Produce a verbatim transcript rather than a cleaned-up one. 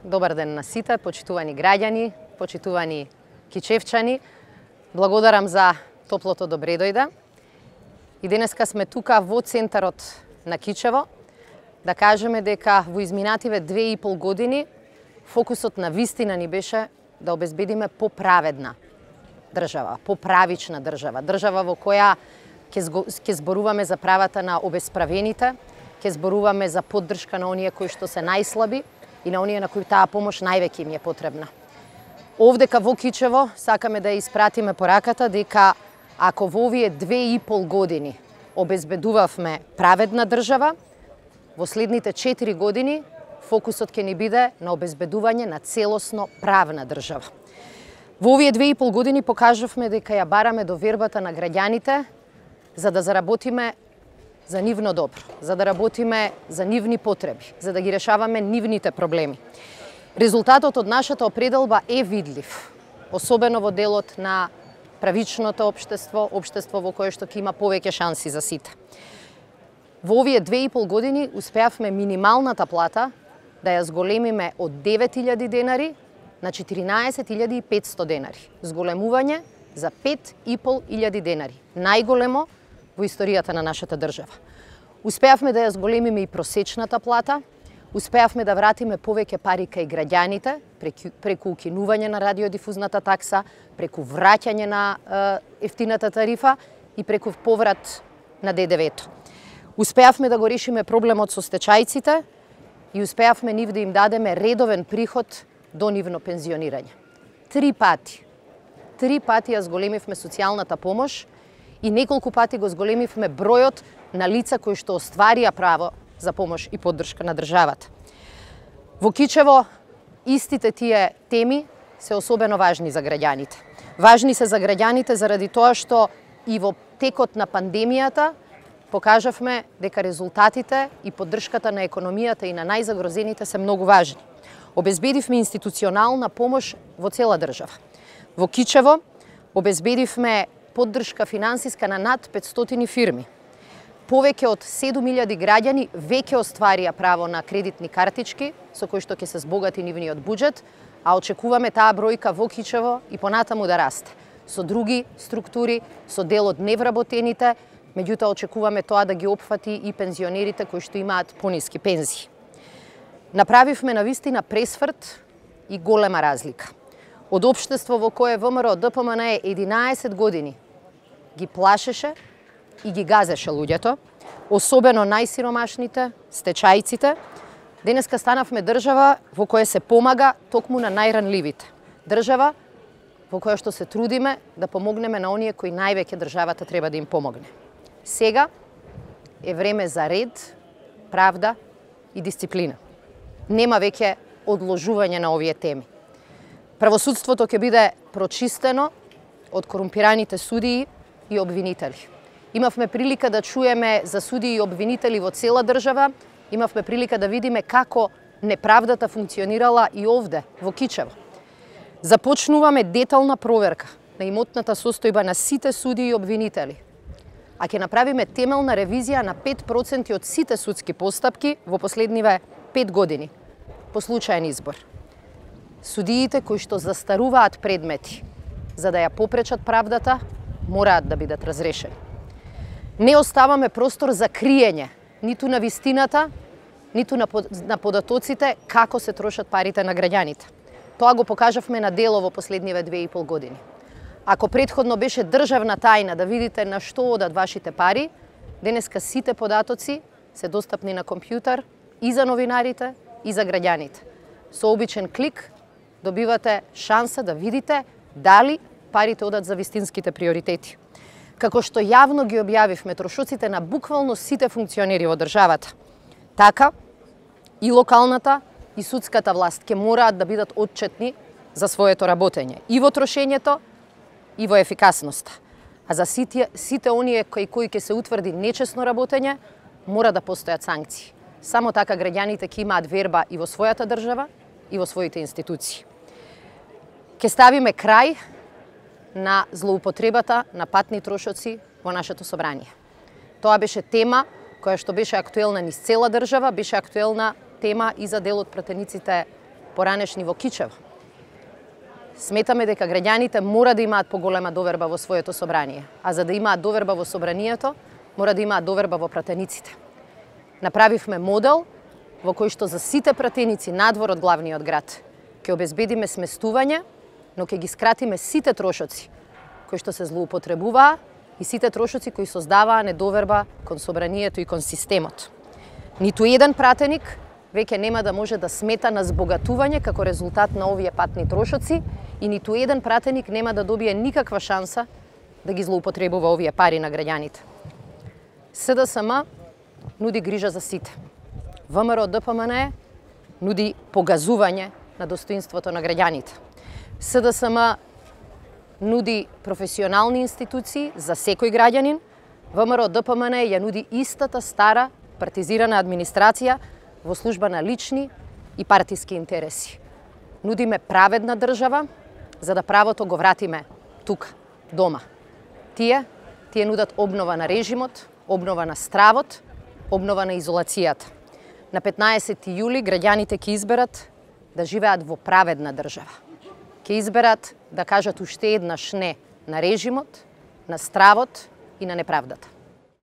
Добар ден на сите, почитувани граѓани, почитувани кичевчани. Благодарам за топлото добре дојде. И денеска сме тука во центарот на Кичево да кажеме дека во изминативе две и пол години фокусот на вистина ни беше да обезбедиме поправедна држава, поправична држава, држава во која ќе зборуваме за правата на обесправените, ќе зборуваме за поддршка на оние кои што се најслаби и на оние на кои таа помош највеќе им е потребна. Овдека во Кичево сакаме да испратиме пораката дека ако во овие две и пол години обезбедувавме праведна држава, во следните четири години фокусот ќе ни биде на обезбедување на целосно правна држава. Во овие две и пол години покажавме дека ја бараме довербата на граѓаните за да заработиме за нивно добро, за да работиме за нивни потреби, за да ги решаваме нивните проблеми. Резултатот од нашата определба е видлив, особено во делот на правичното општество, општество во кое што ќе има повеќе шанси за сите. Во овие две и пол години успеавме минималната плата да ја зголемиме од девет илјади денари на четиринаесет илјади и петсто денари. Зголемување за пет и пол илјади денари. Најголемо во историјата на нашата држава. Успеавме да ја зголемиме и просечната плата, успеавме да вратиме повеќе пари кај граѓаните преку, преку укинување на радиодифузната такса, преку враќање на е, ефтината тарифа и преку поврат на Д Д В-то. Успеавме да го решиме проблемот со стечајците и успеавме нив да им дадеме редовен приход до нивно пензионирање. Три пати. Три пати ја зголемивме социјалната помош и неколку пати го зголемивме бројот на лица кои што остварија право за помош и поддршка на државата. Во Кичево истите тие теми се особено важни за граѓаните. Важни се за граѓаните заради тоа што и во текот на пандемијата покажавме дека резултатите и поддршката на економијата и на најзагрозените се многу важни. Обезбедивме институционална помош во цела држава. Во Кичево обезбедивме поддршка финансиска на над петстотини фирми. Повеќе од седум илјади граѓани веќе остварија право на кредитни картички со кои што ќе се збогати нивниот буџет, а очекуваме таа бројка во Кичево и понатаму да расте. Со други структури, со дел од невработените, меѓутоа очекуваме тоа да ги опфати и пензионерите кои што имаат пониски пензии. Направивме навистина пресврт и голема разлика. Од општество во кое Во М Р Д П М Н Е единаесет години ги плашеше и ги газеше луѓето, особено најсиромашните, стечајците, денеска станавме држава во која се помага токму на најранливите. Држава во која што се трудиме да помогнеме на оние кои највеќе државата треба да им помогне. Сега е време за ред, правда и дисциплина. Нема веќе одложување на овие теми. Правосудството ќе биде прочистено од корумпираните судии и обвинители. Имавме прилика да чуеме за судии и обвинители во цела држава, имавме прилика да видиме како неправдата функционирала и овде, во Кичево. Започнуваме детална проверка на имотната состојба на сите судии и обвинители, а ќе направиме темелна ревизија на пет проценти од сите судски постапки во последниве пет години, по случаен избор. Судиите кои што застаруваат предмети, за да ја попречат правдата, мораат да бидат разрешени. Не оставаме простор за криење, ниту на вистината, ниту на, под, на податоците како се трошат парите на граѓаните. Тоа го покажавме на дело во последниве две и пол години. Ако претходно беше државна тајна да видите на што одат вашите пари, денеска сите податоци се достапни на компјутер и за новинарите, и за граѓаните. Со обичен клик добивате шанса да видите дали парите одат за вистинските приоритети. Како што јавно ги објавивме трошоците на буквално сите функционери во државата, така и локалната и судската власт ќе мораат да бидат отчетни за своето работење и во трошењето и во ефикасноста. А за сите, сите оние кои кои ќе се утврди нечесно работење, мора да постојат санкции. Само така граѓаните ќе имаат верба и во својата држава и во своите институции. Ќе ставиме крај на злоупотребата на патни трошоци во нашето собрание. Тоа беше тема која што беше актуелна низ цела држава, беше актуелна тема и за дел од пратениците поранешни во Кичево. Сметаме дека граѓаните мора да имаат поголема доверба во своето собрание, а за да имаат доверба во собранието, мора да имаат доверба во пратениците. Направивме модел во кој што за сите пратеници надвор од главниот град ќе обезбедиме сместување, но ќе ги скратиме сите трошоци кои што се злоупотребуваа и сите трошоци кои создаваа недоверба кон собранието и кон системот. Ниту еден пратеник веќе нема да може да смета на збогатување како резултат на овие патни трошоци и ниту еден пратеник нема да добие никаква шанса да ги злоупотребува овие пари на граѓаните. СДСМ нуди грижа за сите. ВМРО ДПМН нуди погазување на достоинството на граѓаните. СДСМ нуди професионални институции за секој граѓанин. ВМРО ДПМН ја нуди истата стара партизирана администрација во служба на лични и партиски интереси. Нудиме праведна држава, за да правото го вратиме тука, дома. Тие, тие нудат обнова на режимот, обнова на стравот, обнова на изолацијата. На петнаесети јули граѓаните ќе изберат да живеат во праведна држава. Ќе изберат да кажат уште еднаш не на режимот, на стравот и на неправдата.